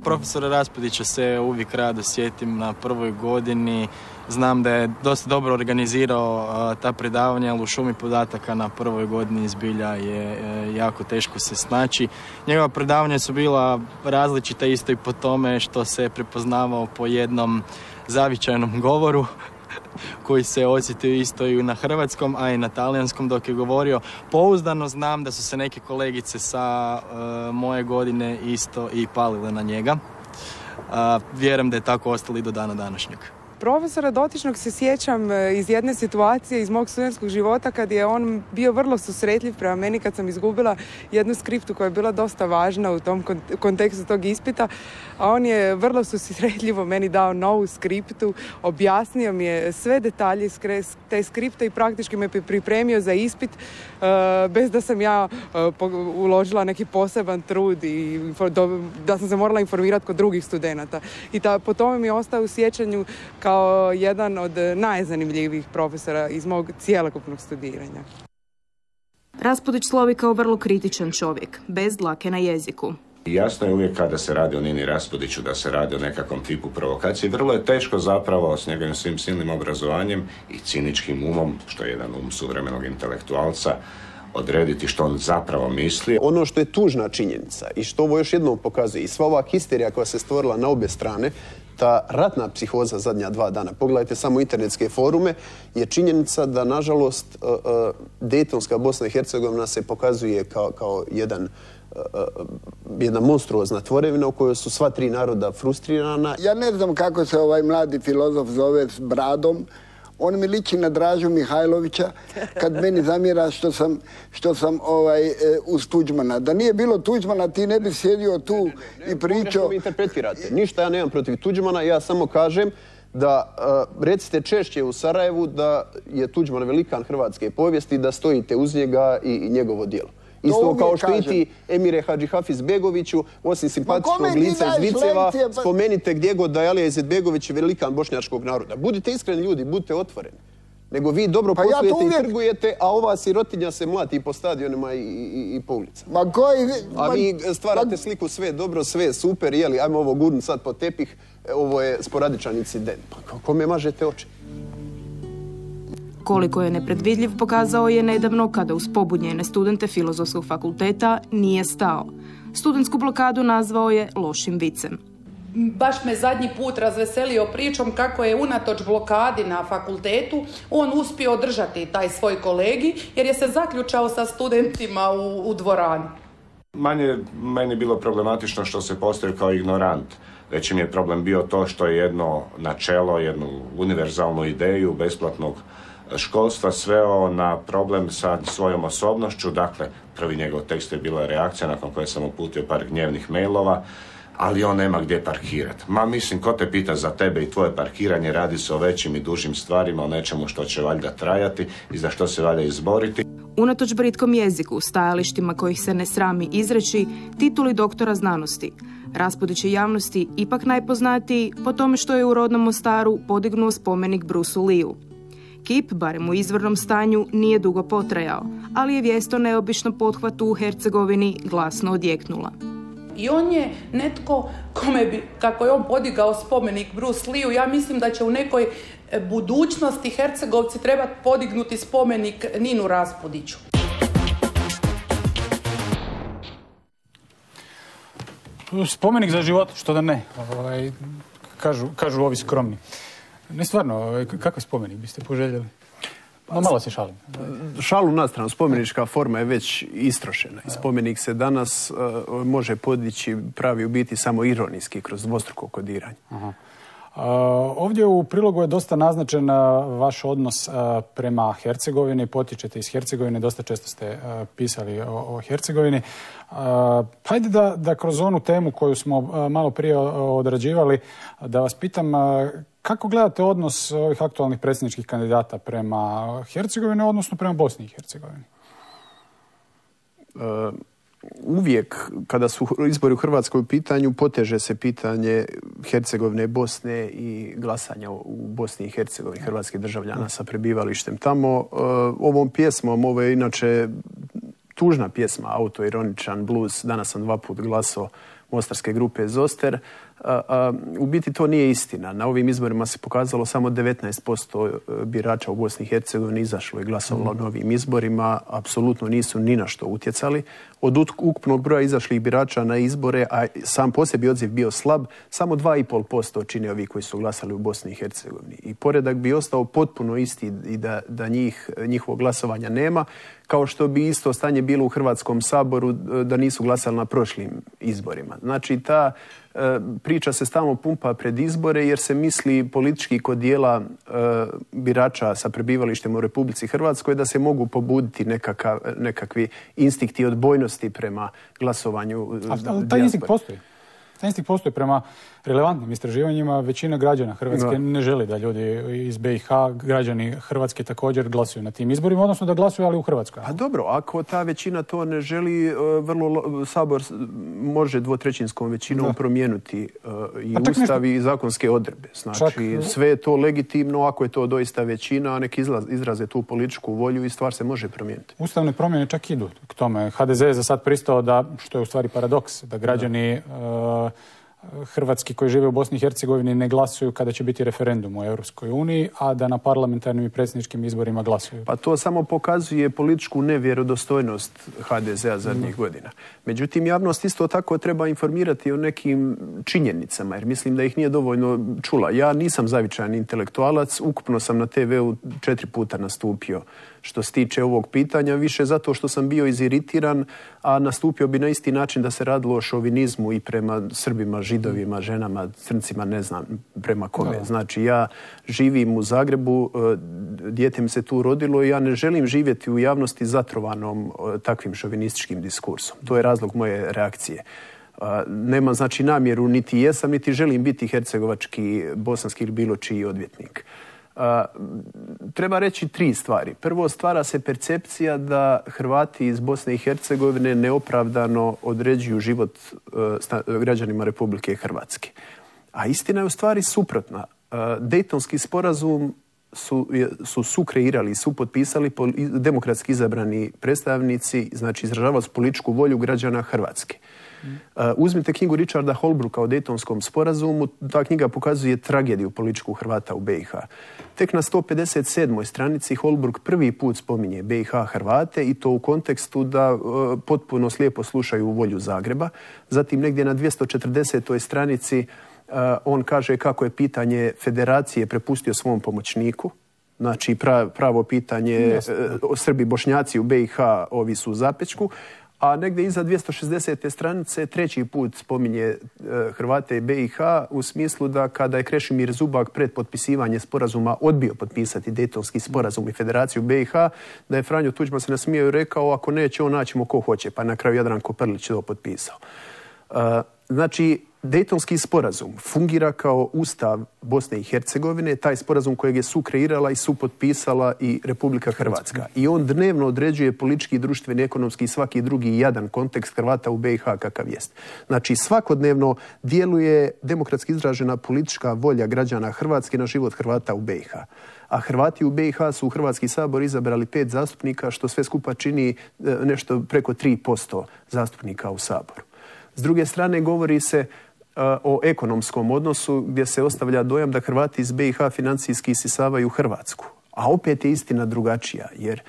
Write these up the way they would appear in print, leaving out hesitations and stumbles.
profesora Raspudića se uvijek rado sjetim na prvoj godini. Znam da je dosta dobro organizirao ta predavanja, ali u šumi podataka na prvoj godini zbilja je jako teško se snaći. Njegova predavanja su bila različita isto i po tome što se prepoznavao po jednom zavičajnom govoru koji se osjetio isto i na hrvatskom, a i na talijanskom dok je govorio. Pouzdano znam da su se neke kolegice sa moje godine isto i palile na njega. Vjerujem da je tako ostalo i do dana današnjeg. Profesora dotičnog se sjećam iz jedne situacije iz mog studentskog života kad je on bio vrlo susretljiv prema meni kad sam izgubila jednu skriptu koja je bila dosta važna u tom kontekstu tog ispita, a on je vrlo susretljivo meni dao novu skriptu, objasnio mi je sve detalje iz te skripte i praktički me pripremio za ispit bez da sam ja uložila neki poseban trud i da sam se morala informirati kod drugih studenata. I po tome mi je ostao u sjećanju kao jedan od najzanimljivijih profesora iz mog cjelokupnog studiranja. Raspudić slovi kao vrlo kritičan čovjek, bez dlake na jeziku. Jasno je uvijek kada se radi o Nini Raspudiću da se radi o nekakvom tipu provokacije. Vrlo je teško zapravo s njegovim svim silnim obrazovanjem i ciničkim umom, što je jedan suvremenog intelektualca, odrediti što on zapravo misli. Ono što je tužna činjenica i što ovo još jednom pokazuje i sva ova histerija koja se stvorila na obje strane, ta ratna psihoza zadnja 2 dana, pogledajte samo internetske forume, je činjenica da, nažalost, Dejtonska Bosna i Hercegovina se pokazuje kao jedna monstruozna tvorevina u kojoj su sva 3 naroda frustrirana. Ja ne znam kako se ovaj mladi filozof zove s bradom. On mi liči na Dražu Mihajlovića kad meni zamjera što sam uz Tuđmana. Da nije bilo Tuđmana, ti ne bi sjedio tu i pričao. Pogrešno mi interpretirate. Ništa ja nemam protiv Tuđmana, ja samo kažem da recite češće u Sarajevu da je Tuđman velikan hrvatske povijesti i da stojite uz njega i njegovo djelo. Isto kao što i ti, Emire Hadžihafiz-Begoviću, osim simpatičnog lica iz Viceva, spomenite gdje god da je Alija Izetbegović velikan bošnjačkog naroda. Budite iskreni ljudi, budite otvoreni. Nego vi dobro poslujete i trgujete, a ova sirotinja se mlati po stadionima i po ulicama. A vi stvarate sliku sve dobro, sve super, jeli, ajmo ovo gurnut sad po tepih, ovo je sporadičan incident. Pa kome mažete oči? Koliko je nepredvidljiv pokazao je nedavno kada uz pobunjene studente Filozofskog fakulteta nije stao. Studentsku blokadu nazvao je lošim vicem. Baš me zadnji put razveselio pričom kako je unatoč blokadi na fakultetu on uspio održati taj svoj kolegi jer je se zaključao sa studentima u dvorani. Manje meni bilo problematično što se postavio kao ignorant. Veći mi je problem bio to što je jedno načelo, jednu univerzalnu ideju besplatnog školstva sveo na problem sa svojom osobnošću. Dakle, prvi njegov tekst je bila reakcija nakon koje sam uputio par gnjevnih mailova, ali on nema gdje parkirati. Mislim, ko te pita za tebe i tvoje parkiranje, radi se o većim i dužim stvarima, o nečemu što će valjda trajati i za što se valja izboriti. Unatoč britkom jeziku, stajalištima kojih se ne srami izreći, tituli doktora znanosti, Raspudić je javnosti ipak najpoznatiji po tome što je u rodnom Mostaru podignuo spomenik Bruceu Leeu. Kip, barem u izvornom stanju, nije dugo potrajao, ali je vijest o neobičnom pothvatu u Hercegovini glasno odjeknula. I on je netko kome bi, kako je on podigao spomenik Bruceu Leeu, ja mislim da će u nekoj budućnosti Hercegovci trebati podignuti spomenik Ninu Raspudiću. Spomenik za život, što da ne, kažu ovi skromni. Ne stvarno, kakav spomenik biste poželjeli? Malo se šalim. Šalu na stranu, spomenička forma je već istrošena. I spomenik se danas može podići pravi u biti samo ironijski kroz dvostruko kodiranje. Ovdje u prilogu je dosta naznačen vaš odnos prema Hercegovini. Potičete iz Hercegovine, dosta često ste pisali o Hercegovini. Hajde da kroz onu temu koju smo malo prije odrađivali, da vas pitam kako gledate odnos ovih aktualnih predsjedničkih kandidata prema Hercegovini, odnosno prema Bosni i Hercegovini? Uvijek kada su izbori u Hrvatskoj u pitanju, poteže se pitanje Hercegovine, Bosne i glasanja u Bosni i Hercegovini hrvatskih državljana sa prebivalištem tamo. Ovom pjesmom, ovo je inače tužna pjesma, autoironičan blues, danas sam 2 puta glasao mostarske grupe Zoster. U biti to nije istina. Na ovim izborima se pokazalo samo 19% birača u Bosni i Hercegovini izašlo i glasovalo na ovim izborima. Apsolutno nisu ni na što utjecali. Od ukupnog broja izašlih birača na izbore, a sam po sebi odziv bio slab, samo 2,5% čine ovi koji su glasali u Bosni i Hercegovini. I poredak bi ostao potpuno isti i da njihovog glasovanja nema, kao što bi isto stanje bilo u Hrvatskom saboru da nisu glasali na prošlim izborima. Znači, ta priča se stalno pumpa pred izbore jer se misli politički kod dijela birača sa prebivalištem u Republici Hrvatskoj da se mogu pobuditi nekakvi instinkti odbojnosti prema glasovanju ali taj instinkt postoji. Taj instinkt postoji prema relevantnim istraživanjima. Većina građana Hrvatske ne želi da ljudi iz BiH, građani Hrvatske također glasuju na tim izborima, odnosno da glasuju, ali u Hrvatskoj. A dobro, ako ta većina to ne želi, Sabor može 2/3 većinom promijeniti i Ustav i zakonske odredbe. Znači, sve je to legitimno ako je to doista većina, a nek izraze tu političku volju i stvar se može promijeniti. Ustavne promjene čak idu k tome. HDZ je za sad pristao da, što je u stvari paradoks, da građani Hrvatski koji žive u Bosni i Hercegovini ne glasuju kada će biti referendum u Europskoj uniji, a da na parlamentarnim i predsjedničkim izborima glasuju. Pa to samo pokazuje političku nevjerodostojnost HDZ-a zadnjih godina. Međutim, javnost isto tako treba informirati o nekim činjenicama, jer mislim da ih nije dovoljno čula. Ja nisam zavičajan intelektualac, ukupno sam na TV-u 4 puta nastupio što se tiče ovog pitanja, više zato što sam bio iziritiran, a nastupio bi na isti način da se radilo o šovinizmu i prema Srbima, Židovima, ženama, crncima, ne znam prema kome. Znači, ja živim u Zagrebu, dijete mi se tu rodilo i ja ne želim živjeti u javnosti zatrovanom takvim šovinističkim diskursom. To je razlog moje reakcije. Nemam znači namjeru, niti jesam, niti želim biti hercegovački, bosanski ili bilo čiji odvjetnik. Treba reći 3 stvari. Prvo, stvara se percepcija da Hrvati iz Bosne i Hercegovine neopravdano određuju život građanima Republike Hrvatske. A istina je u stvari suprotna. Dejtonski sporazum su sukreirali, su potpisali demokratski izabrani predstavnici, znači izražavali su političku volju građana Hrvatske. Uzmite knjigu Richarda Holbrooka o Dejtonskom sporazumu, ta knjiga pokazuje tragediju političku Hrvata u BiH. Tek na 157. stranici Holbrook prvi put spominje BiH Hrvate i to u kontekstu da potpuno slijepo slušaju volju Zagreba. Zatim negdje na 240. stranici on kaže kako je pitanje federacije prepustio svom pomoćniku. Znači pravo pitanje Srbi, Bošnjaci u BiH, ovi su u zapečku. A negdje iza 260. stranice 3. put spominje Hrvate i BiH u smislu da kada je Krešimir Zubak pred potpisivanje sporazuma odbio potpisati Dejtonski sporazum i Federaciju BiH, da je Franjo Tuđman se nasmijao i rekao ako neće on naćemo ko hoće, pa na kraju Jadranko Prlić to potpisao. Znači, Dejtonski sporazum fungira kao ustav Bosne i Hercegovine, taj sporazum kojeg je sukreirala i supotpisala i Republika Hrvatska. I on dnevno određuje politički, društveni, ekonomski i svaki drugi jadan kontekst Hrvata u BiH kakav jest. Znači, svakodnevno djeluje demokratski izražena politička volja građana Hrvatske na život Hrvata u BiH. A Hrvati u BiH su u Hrvatski sabor izabrali 5 zastupnika, što sve skupa čini nešto preko 3% zastupnika u saboru. S druge strane, govori se o ekonomskom odnosu gdje se ostavlja dojam da Hrvati iz BiH financijski isisavaju Hrvatsku. A opet je istina drugačija, jer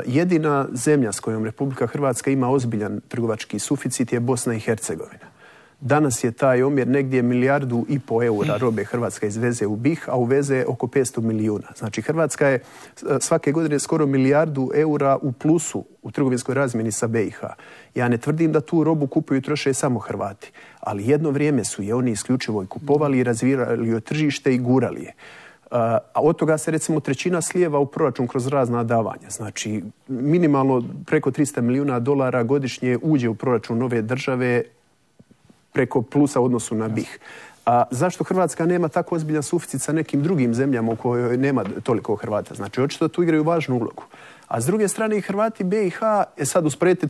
jedina zemlja s kojom Republika Hrvatska ima ozbiljan trgovački suficit je Bosna i Hercegovina. Danas je taj omjer negdje 1,5 milijardu eura robe Hrvatska izveze u BiH, a uveze oko 500 milijuna. Znači Hrvatska je svake godine skoro 1 milijardu eura u plusu u trgovinskoj razmjeni sa BiH. Ja ne tvrdim da tu robu kupuju i troše samo Hrvati, ali jedno vrijeme su je oni isključivo i kupovali i razvijali joj tržište i gurali je. A od toga se recimo 1/3 slijeva u proračun kroz razna davanja. Znači minimalno preko $300 milijuna godišnje uđe u proračun ove države preko plusa u odnosu na BiH. A zašto Hrvatska nema tako ozbiljan suficit sa nekim drugim zemljama u kojoj nema toliko Hrvata? Znači, očito tu igraju važnu ulogu. A s druge strane i Hrvati BiH, sad usporedite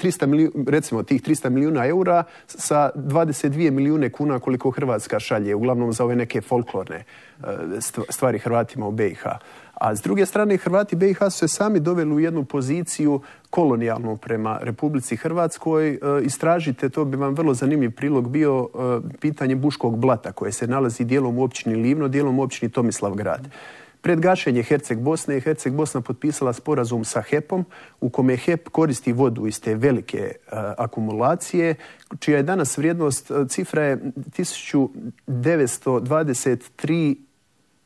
recimo tih 300 milijuna eura sa 22 milijune kuna koliko Hrvatska šalje, uglavnom za ove neke folklorne stvari Hrvatima u BiH. A s druge strane, Hrvati BiH su se sami doveli u jednu poziciju kolonijalnu prema Republici Hrvatskoj. Istražite, to bi vam vrlo zanimljiv prilog bio pitanje Buškog blata koje se nalazi dijelom u općini Livno, dijelom u općini Tomislavgrad. Pred gašenje Herceg Bosne je Herceg Bosna potpisala sporazum sa HEP-om u kome HEP koristi vodu iz te velike akumulacije, čija je danas vrijednost, cifra je 1923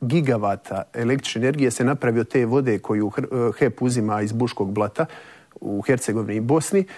gigavata električne energije se napravi od te vode koju HEP uzima iz Buškog blata u Hercegovini i Bosni.